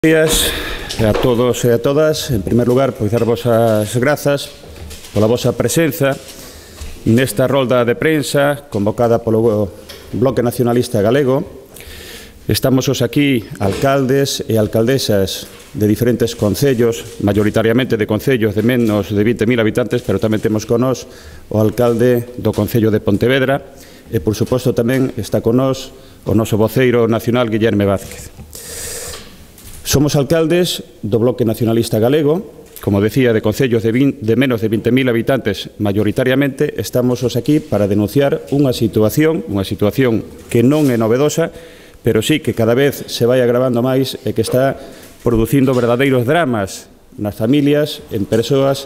Días a todos e a todas. En primer lugar, pois darvos as grazas pola vosa presenza nesta rolda de prensa convocada polo Bloque Nacionalista Galego. Estamos os aquí alcaldes e alcaldesas de diferentes concellos, maioritariamente de concellos de menos de 20.000 habitantes, pero tamén temos con nós o alcalde do Concello de Pontevedra e, por suposto, tamén está con nós o noso voceiro nacional, Guillerme Vázquez. Somos alcaldes do Bloque Nacionalista Galego, como decía, de concellos de menos de 20.000 habitantes maioritariamente. Estamos os aquí para denunciar unha situación que non é novedosa, pero sí que cada vez se vai agravando máis e que está producindo verdadeiros dramas nas familias, en persoas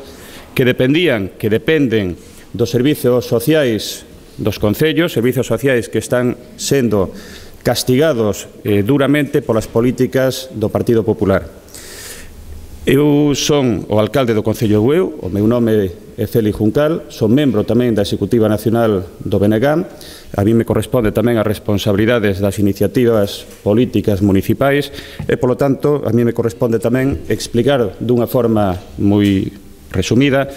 que dependen dos servizos sociais dos concellos, servizos sociais que están sendo castigados duramente polas políticas do Partido Popular. Eu son o alcalde do Concello de Bueu, o meu nome é Félix Juncal, son membro tamén da Executiva Nacional do BNG. A mí me corresponde tamén as responsabilidades das iniciativas políticas municipais e, polo tanto, a mí me corresponde tamén explicar dunha forma moi resumida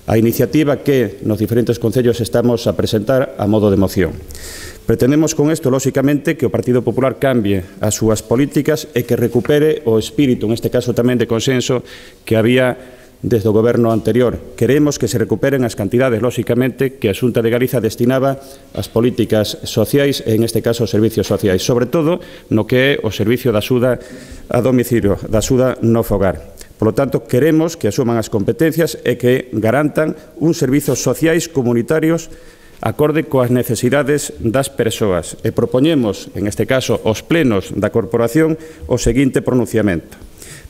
a iniciativa que nos diferentes concellos estamos a presentar a modo de moción. Pretendemos con isto, lóxicamente, que o Partido Popular cambie as súas políticas e que recupere o espírito, neste caso tamén de consenso, que había desde o goberno anterior. Queremos que se recuperen as cantidades, lóxicamente, que a Xunta de Galiza destinaba ás políticas sociais e, en este caso, aos servicios sociais, sobre todo no que é o servicio da axuda a domicilio, da axuda no fogar. Por lo tanto, queremos que asuman as competencias e que garantan uns servizos sociais comunitarios acorde coas necesidades das persoas e propoñemos, en este caso, aos plenos da corporación o seguinte pronunciamento.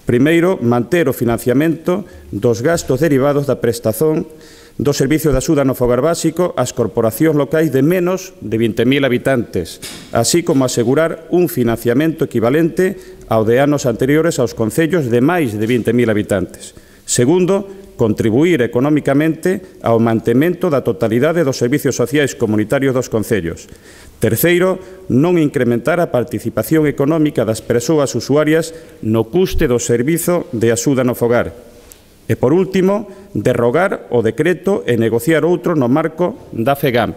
Primeiro, manter o financiamento dos gastos derivados da prestación do servicio de axuda no fogar básico ás corporacións locais de menos de 20.000 habitantes, así como asegurar un financiamento equivalente ao de anos anteriores aos concellos de máis de 20.000 habitantes. Segundo, contribuir económicamente ao mantemento da totalidade dos servicios sociais comunitarios dos concellos. Terceiro, non incrementar a participación económica das persoas usuarias no custe do servizo de axuda no fogar. E, por último, derrogar o decreto e negociar outro no marco da FEGAMP.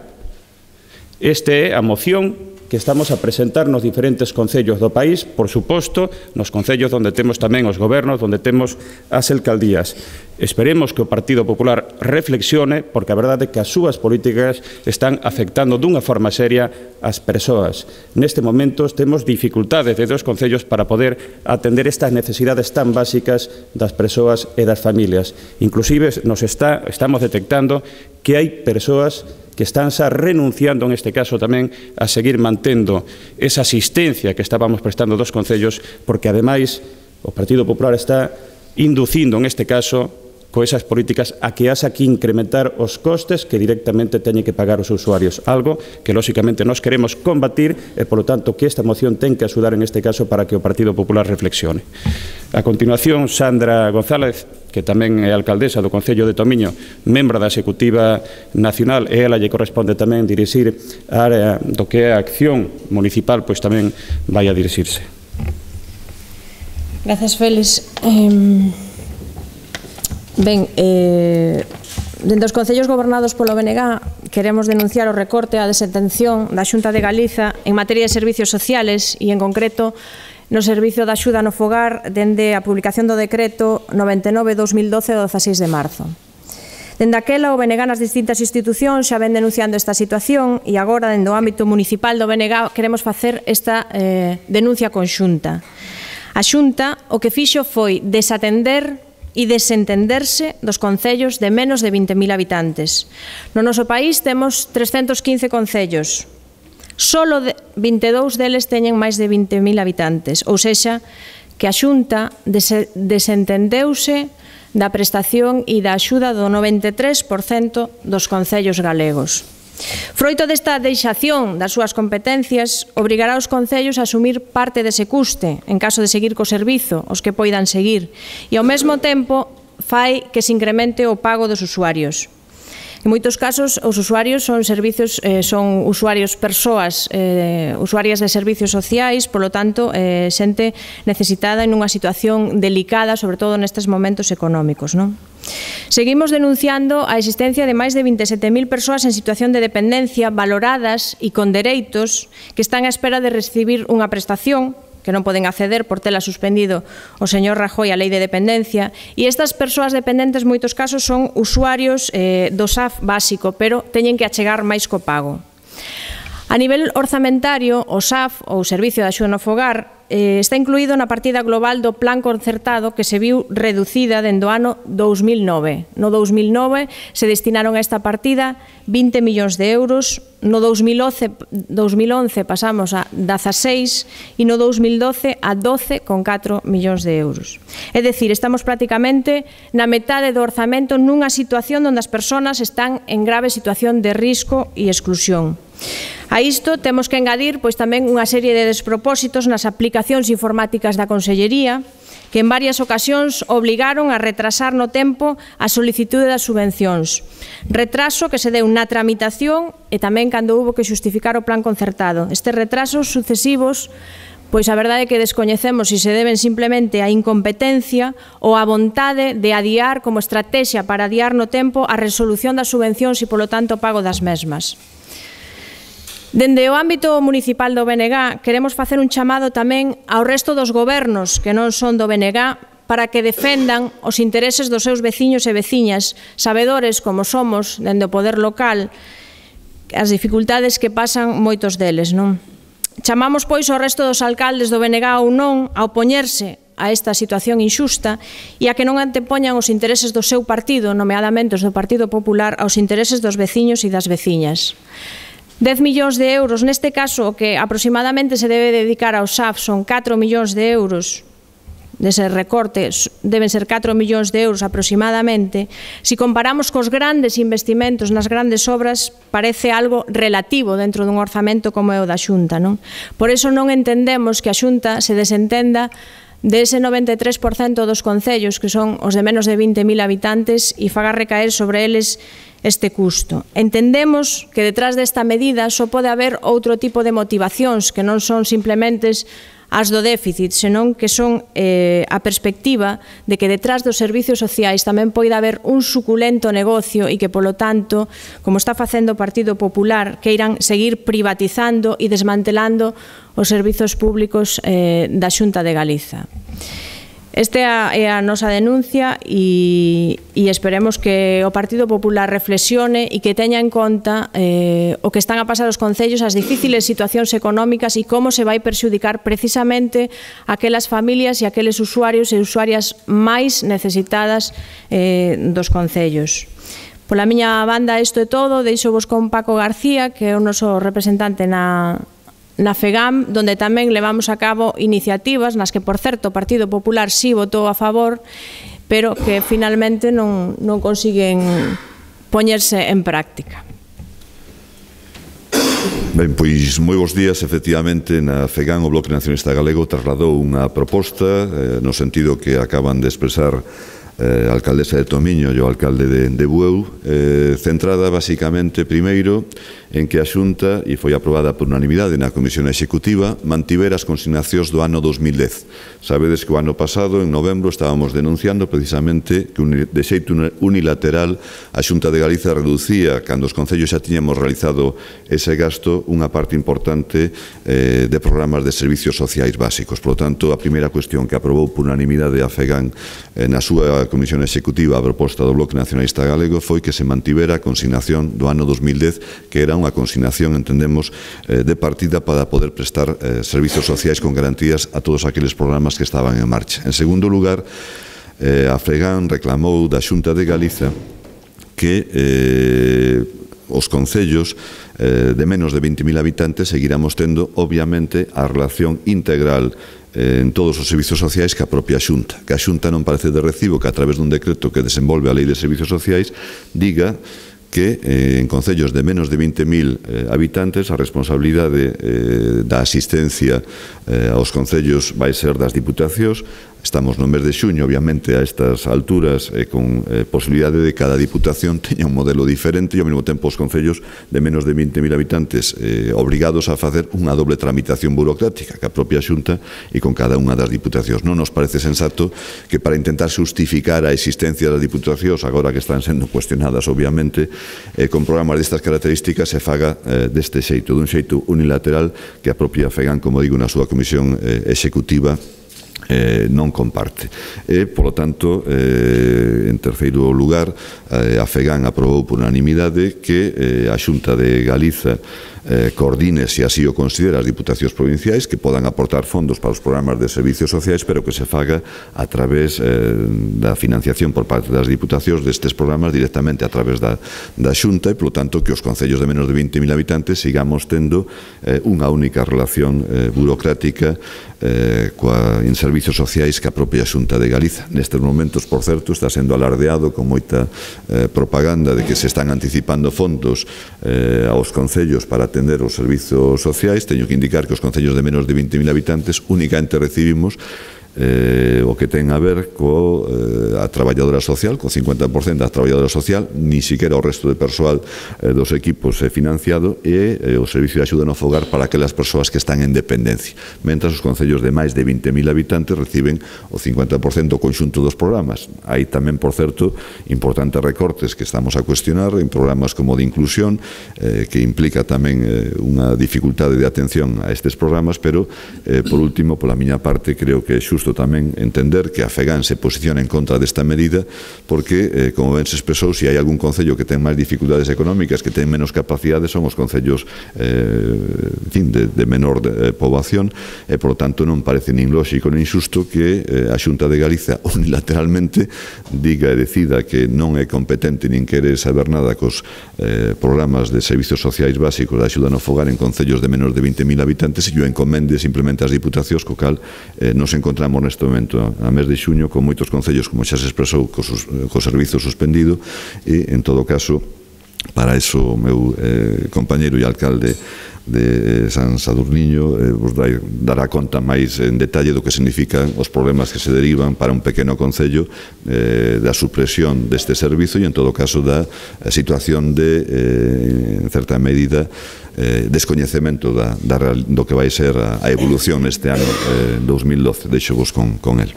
Esta é a moción que estamos a presentar nos diferentes concellos do país, por suposto, nos concellos onde temos tamén os gobernos, onde temos as alcaldías. Esperemos que o Partido Popular reflexione, porque a verdade é que as súas políticas están afectando dunha forma seria as persoas. Neste momento temos dificultades de dos concellos para poder atender estas necesidades tan básicas das persoas e das familias. Inclusive estamos detectando que hai persoas que están xa renunciando, en este caso tamén, a seguir mantendo esa asistencia que estábamos prestando dos concellos, porque, ademais, o Partido Popular está inducindo, en este caso, con esas políticas a que haxa que incrementar os costes que directamente teñen que pagar os usuarios, algo que, lóxicamente, nós queremos combatir e, polo tanto, que esta moción ten que axudar, en este caso, para que o Partido Popular reflexione. A continuación, Sandra González, que tamén é alcaldesa do Concello de Tomiño, membro da Executiva Nacional, e ela lle corresponde tamén dirixir a área do que é a acción municipal, pois tamén vai a dirixirse. Grazas, Félix. Ben, dentro dos concellos gobernados polo BNG queremos denunciar o recorte e a desatención da Xunta de Galiza en materia de servicios sociales e, en concreto, no servicio de axuda no fogar dende a publicación do decreto 99/2012 do 16 de marzo. Dende aquela, o BNG nas distintas institucións xa ven denunciando esta situación e agora, dende o ámbito municipal do BNG, queremos facer esta denuncia conxunta. A Xunta o que fixo foi desatender e desentenderse dos concellos de menos de 20.000 habitantes. No noso país temos 315 concellos. Solo 22 deles teñen máis de 20.000 habitantes, ou sexa, que a Xunta desentendeuse da prestación e da axuda do 93% dos concellos galegos. Froito desta deixación das súas competencias, obrigará os concellos a asumir parte dese custe, en caso de seguir co servizo, os que poidan seguir, e ao mesmo tempo fai que se incremente o pago dos usuarios. En moitos casos, os usuarios son usuarios persoas usuarias de servicios sociais, polo tanto, xente necesitada en unha situación delicada, sobre todo nestes momentos económicos, non? Seguimos denunciando a existencia de máis de 27.000 persoas en situación de dependencia valoradas e con dereitos que están á espera de recibir unha prestación que non poden acceder por tela suspendido o señor Rajoy a lei de dependencia, e estas persoas dependentes en moitos casos son usuarios do SAF básico, pero teñen que achegar máis co pago. A nivel orzamentario, o SAF, ou Servicio de Axuda no Fogar, está incluído na partida global do plan concertado que se viu reducida dende o ano 2009. No 2009 se destinaron a esta partida 20 millóns de euros, no 2011 pasamos a 16 e no 2012 a 12,4 millóns de euros. É dicir, estamos prácticamente na metade do orzamento nunha situación onde as persoas están en grave situación de risco e exclusión. A isto temos que engadir tamén unha serie de despropósitos nas aplicacións informáticas da Consellería que en varias ocasións obligaron a retrasar no tempo a solicitude das subvencións. Retraso que se deu na tramitación e tamén cando houbo que xustificar o plan concertado. Estes retrasos sucesivos, pois a verdade é que descoñecemos se se deben simplemente á incompetencia ou á vontade de adiar como estrategia para adiar no tempo a resolución das subvencións e, polo tanto, o pago das mesmas. Dende o ámbito municipal do BNG queremos facer un chamado tamén ao resto dos gobernos que non son do BNG para que defendan os intereses dos seus veciños e veciñas, sabedores como somos dende o poder local as dificultades que pasan moitos deles, non? Chamamos pois ao resto dos alcaldes do BNG ou non a opoñerse a esta situación injusta e a que non antepoñan os intereses do seu partido, nomeadamente os do Partido Popular, aos intereses dos veciños e das veciñas. 10 millóns de euros, neste caso, o que aproximadamente se debe dedicar ao SAF son 4 millóns de euros, dese recorte deben ser 4 millóns de euros aproximadamente. Si comparamos cos grandes investimentos nas grandes obras, parece algo relativo dentro dun orzamento como é o da Xunta, non? Por iso non entendemos que a Xunta se desentenda dese 93% dos concellos, que son os de menos de 20.000 habitantes, e faga recaer sobre eles este custo. Entendemos que detrás desta medida só pode haber outro tipo de motivacións que non son simplemente as do déficit, senón que son a perspectiva de que detrás dos servicios sociais tamén poida haber un suculento negocio e que, polo tanto, como está facendo o Partido Popular, queiran seguir privatizando e desmantelando os servizos públicos da Xunta de Galiza. Esta é a nosa denuncia e esperemos que o Partido Popular reflexione e que teña en conta o que están a pasar os concellos, as difíciles situacións económicas e como se vai perxudicar precisamente aquelas familias e aqueles usuarios e usuarias máis necesitadas dos concellos. Pola miña banda isto é todo, deixo vos con Paco García, que é o noso representante na FEGAM, donde tamén levamos a cabo iniciativas nas que, por certo, o Partido Popular sí votou a favor, pero que finalmente non consiguen poñerse en práctica. Ben, pois moi bons días. Efectivamente, na FEGAM o Bloque Nacionalista Galego trasladou unha proposta no sentido que acaban de expresar a alcaldesa de Tomiño e o alcalde de Bueu, centrada basicamente primeiro en que a Xunta, e foi aprobada por unanimidade na Comisión Executiva, mantivera as consignacións do ano 2010. Sabedes que o ano pasado, en novembro, estábamos denunciando precisamente que de xeito unilateral a Xunta de Galiza reducía, cando os concellos xa tiñamos realizado ese gasto, unha parte importante de programas de servicios sociais básicos. Por lo tanto, a primeira cuestión que aprobou por unanimidade a FEGAN na súa Comisión Executiva a proposta do Bloque Nacionalista Galego foi que se mantivera a consignación do ano 2010, que era unha consignación, entendemos, de partida para poder prestar servicios sociais con garantías a todos aqueles programas que estaban en marcha. En segundo lugar, a FEGAN reclamou da Xunta de Galiza que os concellos de menos de 20.000 habitantes seguiramos tendo, obviamente, a relación integral en todos os servicios sociais que a propia Xunta. Que a Xunta non parece de recibo que a través dun decreto que desenvolve a Lei de Servicios Sociais diga que en concellos de menos de 20.000 habitantes a responsabilidade da asistencia aos concellos vai ser das diputacións, estamos no mes de xuño, obviamente, a estas alturas, con posibilidade de cada diputación teña un modelo diferente e, ao mesmo tempo, os concellos de menos de 20.000 habitantes obrigados a facer unha doble tramitación burocrática que a propia Xunta e con cada unha das diputacións. Non nos parece sensato que para intentar justificar a existencia das diputacións, agora que están sendo cuestionadas, obviamente, con programas destas características se faga deste xeito, dun xeito unilateral que a propia FEGAN, como digo, na súa comisión executiva non comparte. Por lo tanto, en terceiro lugar, a FEGAN aprobou por unanimidade que a Xunta de Galiza coordine, se así o considera, as diputacións provinciais que podan aportar fondos para os programas de servicios sociais, pero que se faga a través da financiación por parte das diputacións destes programas directamente a través da Xunta e, polo tanto, que os concellos de menos de 20.000 habitantes sigamos tendo unha única relación burocrática en servicios sociais que a propia Xunta de Galiza. Nestes momentos, por certo, está sendo alardeado con moita propaganda de que se están anticipando fondos aos concellos para atender os servizos sociais. Teño que indicar que os concellos de menos de 20.000 habitantes únicamente recibimos o que ten a ver coa traballadora social, co 50% da traballadora social, ni siquiera o resto de persoal dos equipos financiado e o servicio de axuda no fogar para aquelas persoas que están en dependencia, mentras os concellos de máis de 20.000 habitantes reciben o 50% do conxunto dos programas. Hai tamén, por certo, importantes recortes que estamos a cuestionar en programas como de inclusión, que implica tamén unha dificultade de atención a estes programas, pero, por último, pola miña parte, creo que é xusto tamén entender que a FEGAN se posiciona en contra desta medida porque, como ben se expresou, se hai algún concello que ten máis dificultades económicas, que ten menos capacidades, son os concellos de menor poboación e, por lo tanto, non parece nin lóxico nin xusto que a Xunta de Galiza unilateralmente diga e decida que non é competente nin quere saber nada cos programas de servicios sociais básicos da axuda no fogar en concellos de menos de 20.000 habitantes e o encomende simplemente ás diputacións, co cal nos encontramos neste momento a mes de xuño con moitos concellos, como xa se expresou, co servizo suspendido e, en todo caso, para eso o meu compañeiro e alcalde de San Sadurniño vos dará conta máis en detalle do que significan os problemas que se derivan para un pequeno concello da supresión deste servizo e, en todo caso, da situación de, en certa medida, descoñecemento do que vai ser a evolución neste ano 2012. Deixo vos con el.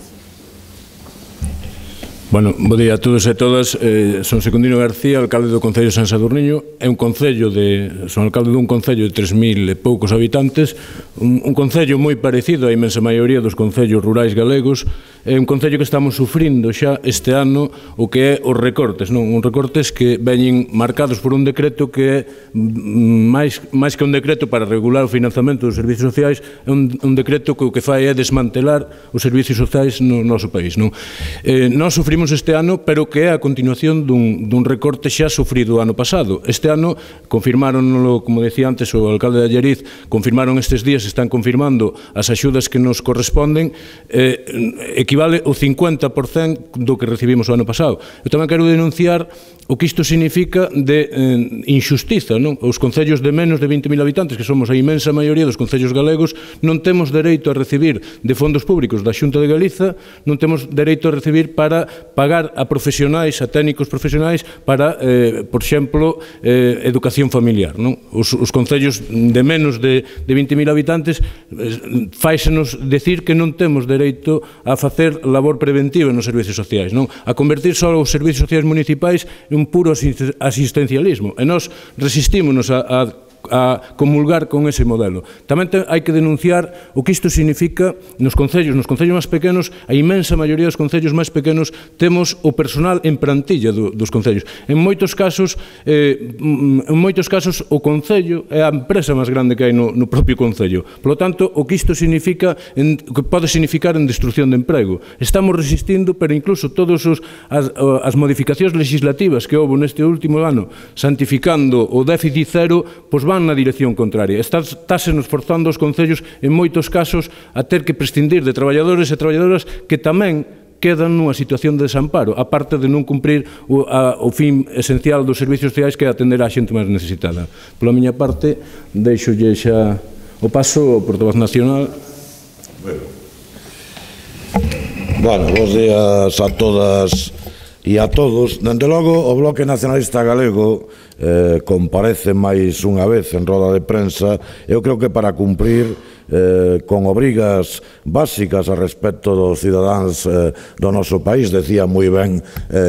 Bueno, bo día a todos e todas. Son Secundino García, alcalde do Concello de San Sadurniño. Son alcalde dun concello de 3.000 e poucos habitantes, un concello moi parecido á inmensa maioría dos concellos rurais galegos. É un concello que estamos sufrindo xa este ano o que é os recortes, non? Uns recortes que veñen marcados por un decreto que é máis que un decreto para regular o financiamento dos servicios sociais, é un decreto que o que fai é desmantelar os servicios sociais no noso país, non? Nós sufrimos este ano, pero que é a continuación dun recorte xa sufrido o ano pasado. Este ano confirmáronlo, como decía antes o alcalde de Allariz, confirmaron estes días, están confirmando as axudas que nos corresponden, equivale ao 50% do que recibimos o ano pasado. Eu tamén quero denunciar o que isto significa de injustiza, non? Os concellos de menos de 20.000 habitantes, que somos a inmensa maioría dos concellos galegos, non temos dereito a recibir de fondos públicos da Xunta de Galiza, non temos dereito a recibir para pagar a profesionais, a técnicos profesionais para, por exemplo, educación familiar, non? Os concellos de menos de 20.000 habitantes fáisenos decir que non temos dereito a facer labor preventiva nos servicios sociais, non? A convertir só os servicios sociais municipais en un puro asistencialismo, e nós resistímonos a comulgar con ese modelo. Tamén hai que denunciar o que isto significa nos concellos máis pequenos. A inmensa maioría dos concellos máis pequenos temos o personal en plantilla dos concellos. En moitos casos o concello é a empresa máis grande que hai no propio concello. Por lo tanto, o que isto significa, que pode significar en destrucción de emprego. Estamos resistindo, pero incluso todas as modificacións legislativas que houve neste último ano, santificando o déficit cero, pois van na dirección contraria. Estáse nos forzando os concellos, en moitos casos, a ter que prescindir de traballadores e traballadoras que tamén quedan nunha situación de desamparo, aparte de non cumprir o fin esencial dos servicios sociais, que é atender a xente máis necesitada. Pola miña parte, deixolle xa o paso ao portavoz nacional. Bueno. Bueno, bons días a todas e a todos. Dende logo, o Bloque Nacionalista Galego comparece máis unha vez en roda de prensa, eu creo que para cumprir con obrigas básicas a respecto dos cidadáns do noso país, decía moi ben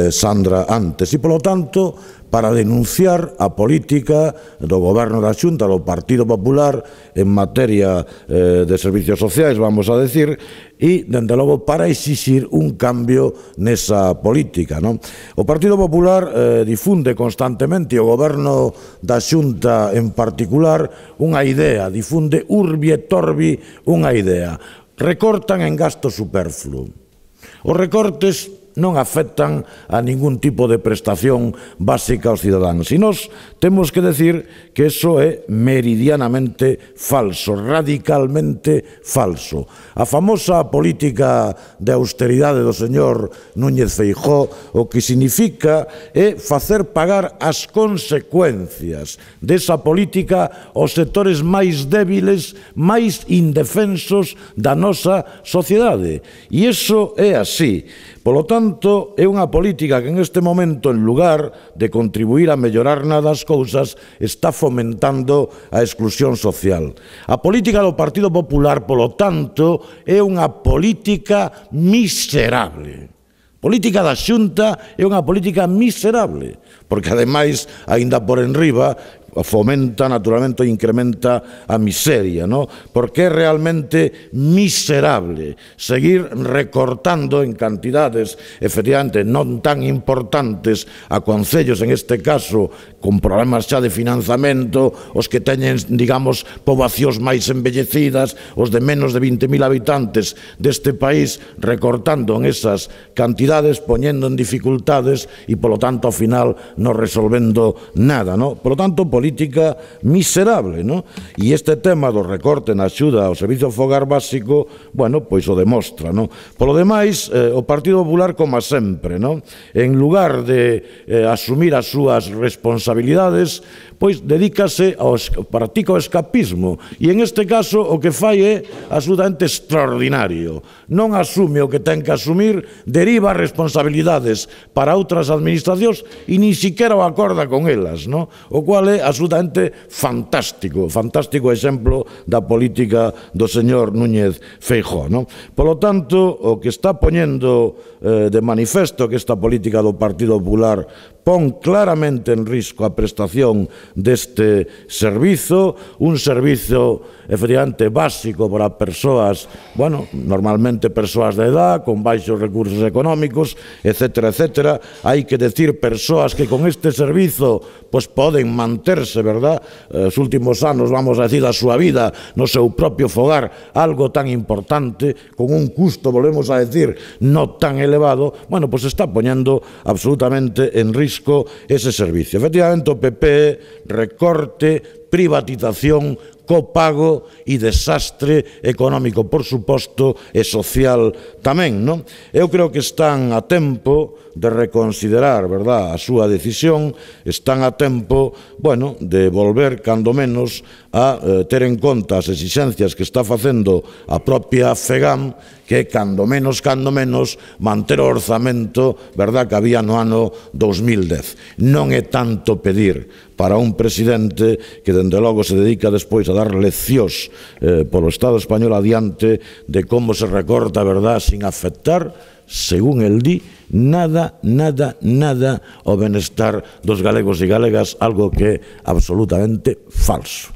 Sandra antes, e polo tanto para denunciar a política do Goberno da Xunta, do Partido Popular en materia de servicios sociais, vamos a decir, e, dende logo, para exixir un cambio nesa política, non? O Partido Popular difunde constantemente, o Goberno da Xunta en particular, unha idea, difunde urbi et orbi unha idea. Recortan en gasto superfluo. Os recortes non afectan a ningún tipo de prestación básica aos cidadáns. E nós temos que decir que iso é meridianamente falso, radicalmente falso. A famosa política de austeridade do señor Núñez Feijóo o que significa é facer pagar as consecuencias desa política aos sectores máis débiles, máis indefensos da nosa sociedade. E iso é así. Polo tanto, é unha política que en este momento, en lugar de contribuir a mellorar nada as cousas, está fomentando a exclusión social. A política do Partido Popular, polo tanto, é unha política miserable. A política da Xunta é unha política miserable, porque, ademais, aínda por enriba, fomenta, naturalmente, e incrementa a miseria, ¿no? Porque é realmente miserable seguir recortando en cantidades, efectivamente, non tan importantes a concellos, en este caso, con problemas xa de financiamento, os que teñen, digamos, poboacións máis embellecidas, os de menos de 20.000 habitantes deste país, recortando en esas cantidades, poñendo en dificultades e, polo tanto, ao final, non resolvendo nada, ¿no? Polo tanto, política miserable, ¿no? E este tema do recorte na axuda ao servicio fogar básico, bueno, pois o demostra, ¿no? Polo demais, o Partido Popular, como sempre, ¿no? En lugar de asumir as súas responsabilidades, pois dedícase ao practica o escapismo, e en este caso o que fai é absolutamente extraordinario. Non asume o que ten que asumir, deriva responsabilidades para outras administracións e nin siquiera o acorda con elas, ¿no? O cual é absolutamente fantástico, fantástico exemplo da política do señor Núñez Feijóo, ¿no? Polo tanto, o que está poñendo de manifesto que esta política do Partido Popular pon claramente en risco a prestación deste servizo, un servizo efectivamente básico para persoas, bueno, normalmente persoas de edad, con baixos recursos económicos, etcétera, etcétera. Hai que decir persoas que con este servizo pois poden manterse, verdad, os últimos anos, vamos a decir, da súa vida no seu propio fogar, algo tan importante, con un custo, volvemos a decir, non tan elevado, bueno, pois está poñendo absolutamente en risco ese servicio. Efectivamente, o PP recorte, privatización, copago e desastre económico, por suposto, e social tamén, non? Eu creo que están a tempo de reconsiderar, verdad, a súa decisión, están a tempo, bueno, de volver, cando menos, a ter en conta as exixencias que está facendo a propia FEGAM, que cando menos, manter o orzamento, verdad, que había no ano 2010. Non é tanto pedir para un presidente que, dende logo, se dedica despois a dar leccións polo Estado español adiante de como se recorta, verdad, sin afectar, según el di, nada o benestar dos galegos e galegas, algo que é absolutamente falso.